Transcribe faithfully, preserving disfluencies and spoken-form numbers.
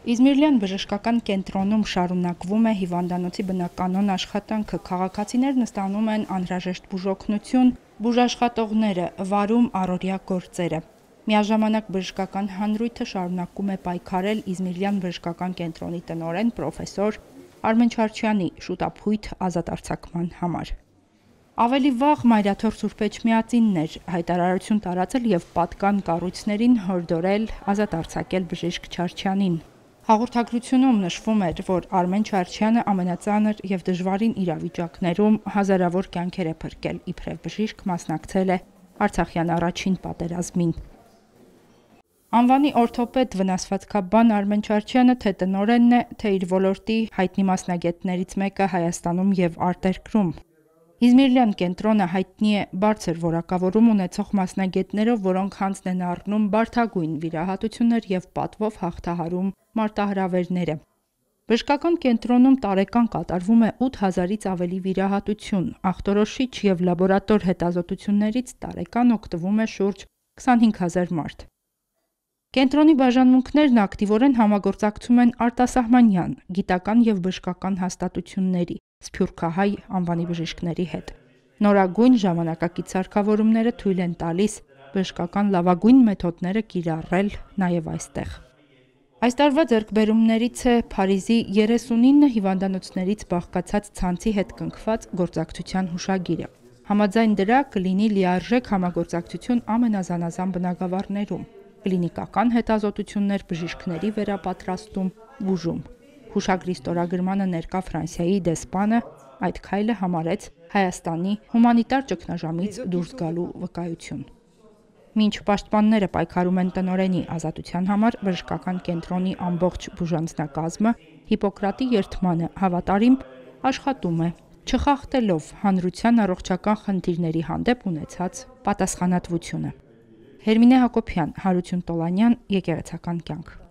Իզմիրլյան բժշկական կենտրոնում շարունակվում է հիվանդանոցի բնականոն աշխատանքը, քաղաքացիներն ստանում են անհրաժեշտ բուժօգնություն, բուժաշխատողները վարում առօրյա գործերը։ Միաժամանակ բժշկական հանրույթը շարունակում է պայքարել Իզմիրլյան բժշկական կենտրոնի տնօրեն պրոֆեսոր Արմեն Չարչյանի շուտափույթ ազատարձակման համար։ Ավելի վաղ Մայրաթոր Սուրբ Էջմիածինն էր հայտարարություն տարածել եւ պատկան կառույցներին հորդորել ազատ արձակել բժիշկ Չարչյանին։ Հաղորդագրությունում նշվում էր, որ Արմեն Չարչյանը ամենածանր եւ դժվարին իրավիճակներում հազարավոր կյանքեր է փրկել, իբրև բժիշկ մասնակցել է Արցախյան առաջին պատերազմին։ Անվանի օրթոպեդ վնասվածքաբան Արմեն Չարչյանը թե տնօրենն է, թե իր ոլորտի հայտնի մասնագետներից մեկը Հայաստանում եւ արտերկրում։ Իզմիրլյան կենտրոնը հայտնի է բարձր որակավորում ունեցող մասնագետներով, որոնք հանձն են առնում բարդագույն վիրահատություններ եւ պատվով հաղթահարում մարտահրավերները։ Բժշկական կենտրոնում տարեկան կատարվում է ութ հազարից ավելի վիրահատություն, ախտորոշիչ եւ լաբորատոր հետազոտություններից տարեկան օգտվում է շուրջ քսանհինգ հազար մարդ։ Կենտրոնի բաժանմունքներն ակտիվորեն համագործակցում են արտասահմանյան, գիտական եւ բժշկական հաստատությունների, սփյուռքահայ անվանի բժիշկների հետ։ Նորագույն ժամանակակից սարքավորումները թույլ են տալիս բժշկական լավագույն մեթոդները կիրառել նաեւ այստեղ։ Այս տարվա ձեռքբերումներից է Փարիզի երեսունինը հիվանդանոցներից բաղկացած ցանցի հետ կնքված գործակցության հուշագիրը։ Համաձայն դրա կլինի լիարժեք համագործակցություն ամենազանազան բնագավառներում՝ կլինիկական հետազոտություններ, բժիշկների վերապատրաստում, բուժում։ Հուշագրի ստորագրմանը ներկա Ֆրանսիայի դեսպանը այդ քայլը համարեց Հայաստանի հումանիտար ճգնաժամից դուրս գալու վկայություն։ Մինչ պաշտպանները պայքարում են տնօրենի ազատության համար, բժշկական կենտրոնի ամբողջ բուժանձնակազմը Հիպոկրատի երդմանը հավատարիմ աշխատում է, չխախտելով հանրության առողջական խնդիրների հանդեպ ունեցած պատասխանատվությունը։ Հերմինե Հակոբյան, Հարություն Տոլանյան, Եկեղեցական կյանք։